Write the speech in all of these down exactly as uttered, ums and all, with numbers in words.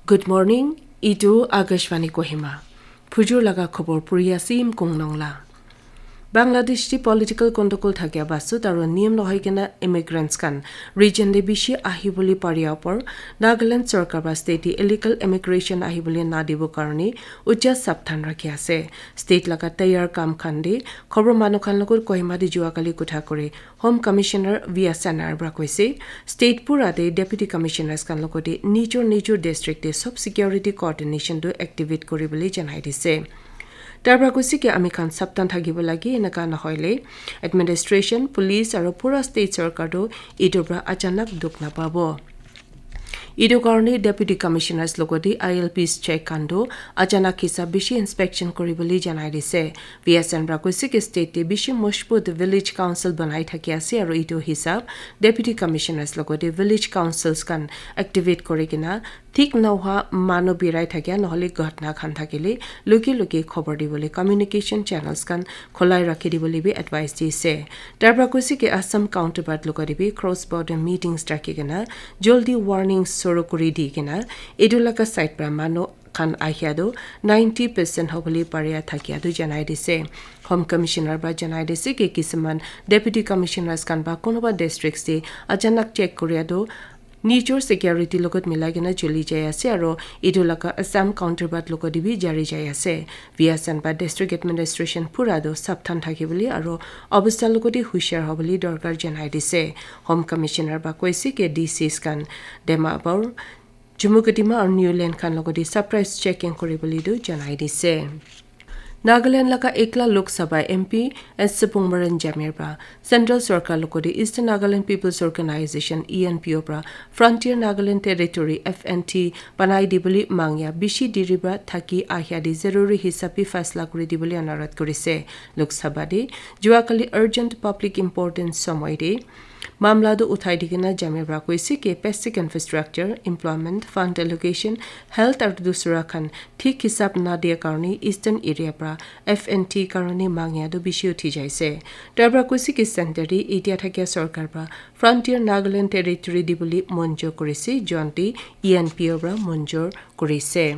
Good morning, itu Akashvani Kohima. Phujur laga khobor puri ase Imkung Nongla. Bangladesh ti political control thakia basut aro niyam nohoi kena immigrants khan region te bishi ahi bole paria opor Nagaland sorkar ba state te illegal immigration ahi bole na dibo karone ucha sapthan rakhi ase. State laga tayar kam khan de khobor manu khan logot Kohima de jua kali kutha kore Home Commissioner V S N R pra koise, state pura te Deputy Commissioners khan logote nijor nijor district te sob security coordination tu activate kuri bole janai dise. Tar pra koise ki ami khan saptan thakibo lage, enaka nohoile administration, police aro pura state sarkar tu etu pra achanak dukh napabo. Etu karone Deputy Commissioners logote I L Ps check khan tu achanak hisab bishi inspection kuri bole janai dise. V S N pra koise ki state te bishi mojbut village council banai thaki ase aro etu hisab Deputy Commissioners logote village councils khan activate kuri kena thik nohwa manu birai thakia nohole ghotna khan thakile luki luki khobor dibole communication channels khan kholai rakhi dibole bi advice dise. Tar pra koise ki Assam counterpart logote bi cross border meetings rakhi kena joldi warning suru kuri di kena etu laga side pra manu khan ahia tu ninety percent hobole paria thakia tu janai dise. Home Commissioner pra janai dise ki kisuman Deputy Commissioners khan ba kunuba districts te achanak check kuria tu nijor security logot milai kena chuli jai ase aro etu laga Assam counterpart logote bi jari jai ase. V S N ba district administration pura tu sapthan thaki bole aro obostha logote hushar hobole dorkar janai dise. Home Commissioner ba koise ki D Cs khan Dimapur, Chumukedima aru Niuland khan logote surprise checking kuri bole tu janai dise. Nagaland laga ekla Lok Sabha M P S Supongmaren Jamir pra Central Sorkar logote Eastern Nagaland People's Organization E N P O pra Frontier Nagaland Territory F N T banai dibole mangya bishi diri pra thaki ahya de zaruri hisab bi faisla kuri dibole anurodh kurise. Lok Sabha de jua kali urgent public importance somoy de mamla tu uthai dikena Jamir pra koise ki basic infrastructure, employment, fund allocation, health aru dusra khan thik hisab na dia karone Eastern area pra F N T karone mangya tu bishi uthi jaise. Tar pra koise ki center te etia thakia sorkar pra Frontier Nagaland Territory dibole monjur kurise, jonte E N P O pra monjur kurise.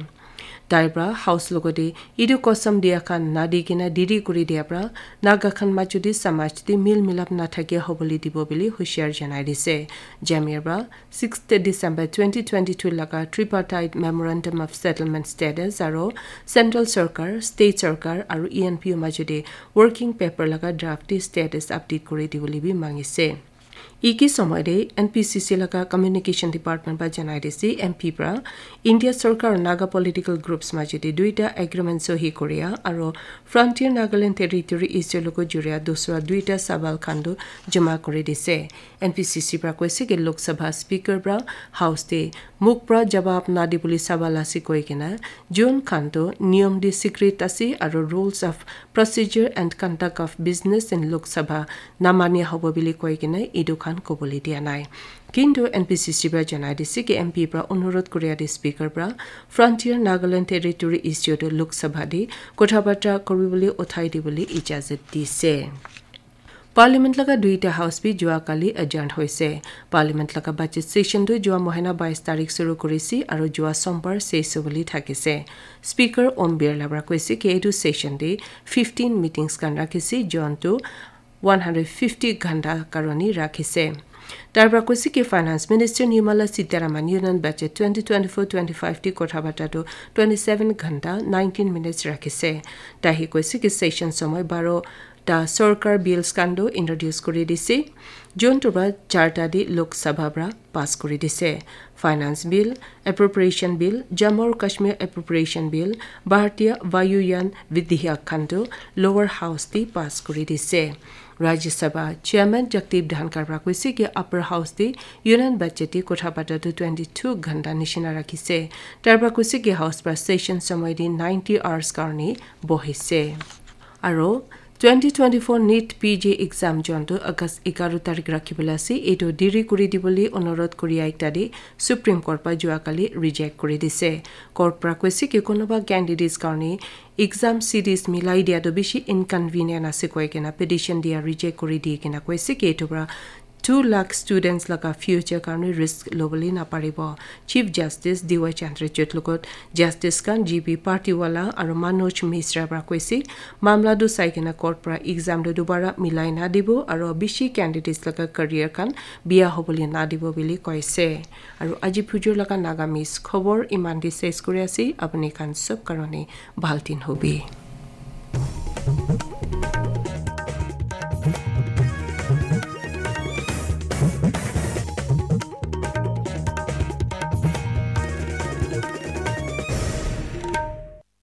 Tai pra House logote etu kosam dia khan nadi kena diri kuri dia pra Naga khan majo te samaj te mil milap na thake hobole dibo bole hushar janai dise. Jamir pra sixth December twenty twenty-two laga tripartite memorandum of settlement status aro Central Sorkar, State Sorkar aro E N P O majo te working paper laga draft te status update kuri dibole bi mangise. Iki somoy de N P C C laga Communication Department pra janai dise, M P pra India Sorkar Naga political groups majo de duita agreement sohi koria aro Frontier Nagaland Territory issue logo juria dusra duita sawal khan tu jama kuri dise. N P C C pra koise ki Lok Sabha Speaker pra House de muk pra jawab na dibole sawal ase koi kena jun khan tu niyom de secret ase aro rules of procedure and conduct of business in Lok Sabha namania hobo bili koi kena etu khan kobole dia nai. Kintu N P C C pra janai dise ki M P pra onurodh kuria de Speaker pra Frontier Nagaland Territory issue tu Lok Sabha de kotha barta kuri bole uthai dibole ijazat dise. Parliament laga duita house bi jua kali adjourn hoise. Parliament laga budget session tu jua mohina bais tarik suru kurisi aro jua sombar ses hobole thakise. Speaker Om Birla pra koise ki etu session de fifteen meetings khan rakhise, jon tu one hundred fifty ghanta karone rakhise. Tar pra koise ki Finance Minister Nirmala Sitharaman Union Budget twenty twenty-four twenty-five te kotha barta tu twenty-seven ghanta nineteen minutes rakhise. Tahi koise ki session somoy baro ta sorkar bills khan tu introduce kuri dise. Jun tu pra charta de Lok Sabha pra pass kuri dise. Finance Bill, Appropriation Bill, Jammu aru Kashmir Appropriation Bill, Bharatiya Vayuyan Vidheyak khan tu Lower House te pass kuri dise. Rajya Sabha Chairman Jagdeep Dhankhar pra koise ki Upper House te Union Budget te kotha barta tu twenty-two ghanta nishina rakhise. Tar pra koise ki House pra session somoy de ninety hours karone bohise. Aro twenty twenty-four NEET P G exam jon tu August egaro tarik rakhibole ase, etu diri kuri dibole onurodh kuria ekta de Supreme Court pra jua kali reject kuri dise. Court pra koise ki kunuba candidates karone exam series milai dia tu bishi inconvenient ase koi kena petition dia reject kuri di kena koise ki etu pra Two lakh students laga future karne risk lobole naparibo. Chief Justice D Y Chandrachud logot Justice khan G B Party wala aro Manoj Misra para koise, mamla tu sai kena court para exam tu dubara milai na dibo aro bishi candidates laga career khan biya hobole na dibo bili koise. Aro aji phujur laga Nagamese khobor iman di ses kuri ase, apni khan sob karone bhal din hobi.